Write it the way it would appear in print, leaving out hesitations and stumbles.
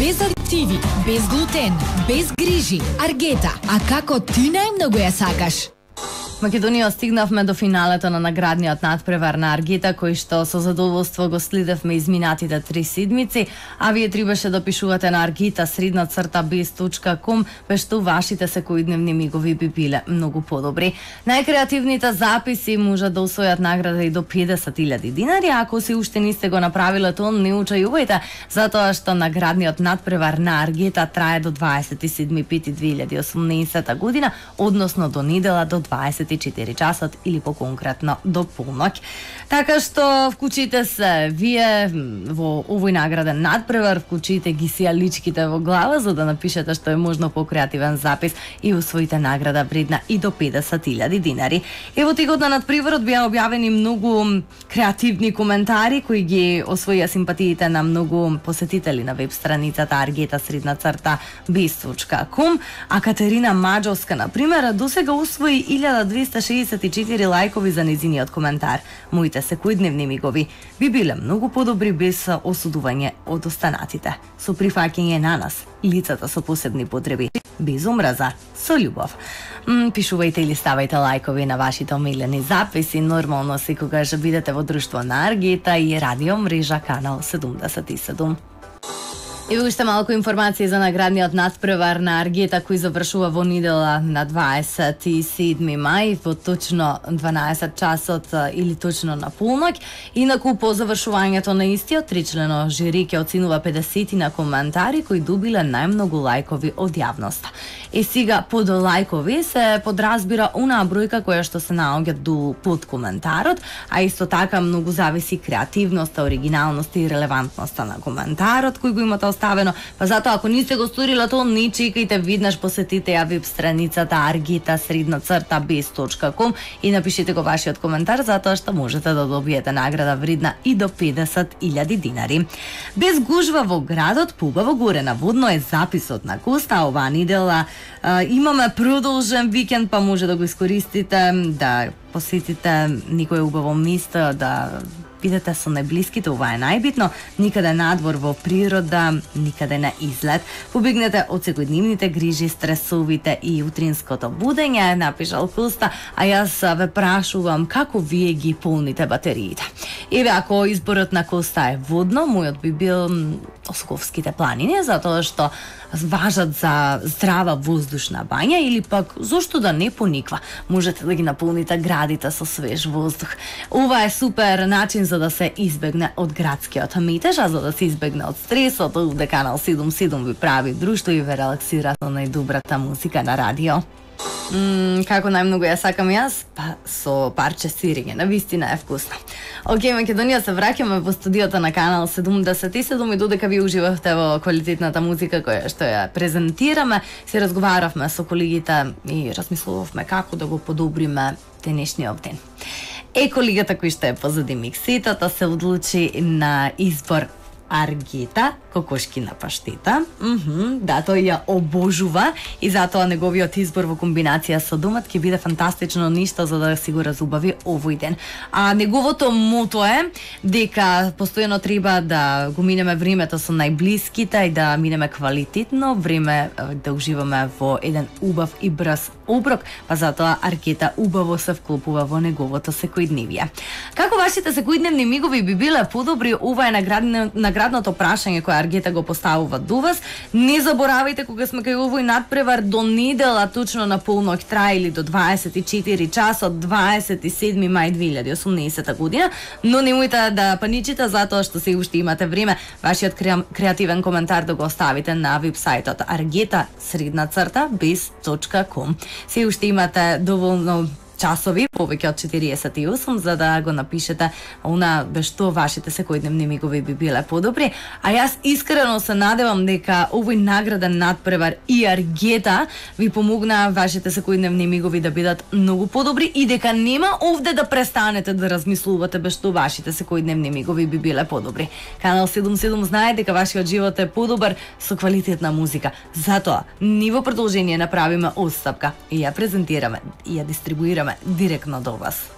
без адитиви, без глутен, без грижи. Аргета, а како ти најмногу ја сакаш? Македонија стигнавме до финалето на наградниот надпревар на Аргета, кој што со задоволство го следевме изминатите 3 седмици, а вие требаше да пишувате на argeta@biz.com, без што вашите секојдневни мигови би биле многу подобри. Најкреативните записи можат да освојат награда и до 50.000 динари, ако се уште не сте го направиле тоа, не учајувајте, затоа што наградниот надпревар на Аргета трае до 27.5.2018 година, односно до недела до 24 часот или поконкретно до полноќ. Така што вклучите се вие во овој награден надпревар, вклучите ги сијаличките во глава за да напишете што е можно по креативен запис и усвоите награда вредна и до 50.000 динари. Ево текот на надпреварот беа објавени многу креативни коментари кои ги освоија симпатиите на многу посетители на веб страницата argeta_biz.com, а Катерина Маџовска на пример досега усвои 1264 лајкови за незиниот коментар. Моите секојдневни мигови би биле многу подобри без осудување од останатите. Со прифаќање на нас, лицата со посебни потреби, без омраза, со љубов. Пишувајте или ставајте лајкови на вашите омилени записи. Нормално секогаш бидете во друштво на Аргета и радио мрежа канал 77. И уште малку информации за наградниот надпревар на Аргета кој завршува во недела на 27 мај во точно 12 часот или точно на полноќ. Инаку по завршувањето на истиот тричлено жири ќе оценува 50 на коментари кои добиле најмногу лајкови од јавноста. И сега под лајкови се подразбира онаа бројка која што се наоѓа под коментарот, а исто така многу зависи креативноста, оригиналноста и релевантноста на коментарот кој го имате оставено. Па затоа ако не сте го сториле тоа, не чекајте, виднаш посетите ја веб страницата argeta_biz.com и напишете го вашиот коментар, затоа што можете да добиете награда вредна и до 50.000 динари. Без гужва во градот, поубаво горе наводно е записот на Коста. Оваа недела имаме продолжен викенд, па може да го искористите, да посетите некој убаво место, да бидете со најблиските, ова е најбитно, никаде надвор во природа, никаде на излет. Побегнете од секојдневните грижи, стресовите и утринското будење, напишал Коста, а јас ве прашувам како вие ги полните батериите. Еве, ако изборот на Коста е водно, мојот би бил Осковските планини, затоа што важат за здрава воздушна бања или пак зошто да не пониква. Можете да ги наполните градите со свеж воздух. Ова е супер начин за да се избегне од градскиот метеж, а за да се избегне од стресот, овде канал 77 ви прави друштво и ве релаксира со најдобрата музика на радио. Како најмногу ја сакам јас? Па со парче сирење, навистина е вкусно. Океј, Македонија, се враќаме во студиото на канал 77 и додека ви уживавте во квалитетната музика која што ја презентираме, се разговаравме со колегите и размислувавме како да го подобриме денешниот ден. Колегата кој што е позади миксетата се одлучи на избор Аргета, кокошкина паштета. Да, тој ја обожува и затоа неговиот избор во комбинација со домат ќе биде фантастично ништо за да си го разубави овој ден. А неговото мото е дека постојано треба да го минеме времето со најблиските и да минеме квалитетно време, да уживаме во еден убав и брз оброк, па затоа Аргета убаво се вклопува во неговото секојдневие. Како вашите секојдневни мигови би биле подобри? Ова е наградното прашање кое Аргета го поставува до вас. Не заборавајте кога сме кај овој надпревар до недела точно на полноќ трае или до 24 часот 27 мај 2018 година, но немојте да паничите затоа што се уште имате време вашиот креативен коментар да го оставите на вебсајтот argeta_biz.com. Се уште имате доволно часови, повеќе од 48, за да го напишете она без што вашите секојдневни мигови би биле подобри. А јас искрено се надевам дека овој награден надпревар и Аргета ви помогна вашите секојдневни мигови да бидат многу подобри и дека нема овде да престанете да размислувате без што вашите секојдневни мигови би биле подобри. Канал 77 знае дека вашиот живот е подобар со квалитетна музика. Затоа, ние во продолжение направиме отстапка и ја презентираме и ја дистрибуираме директно до вас.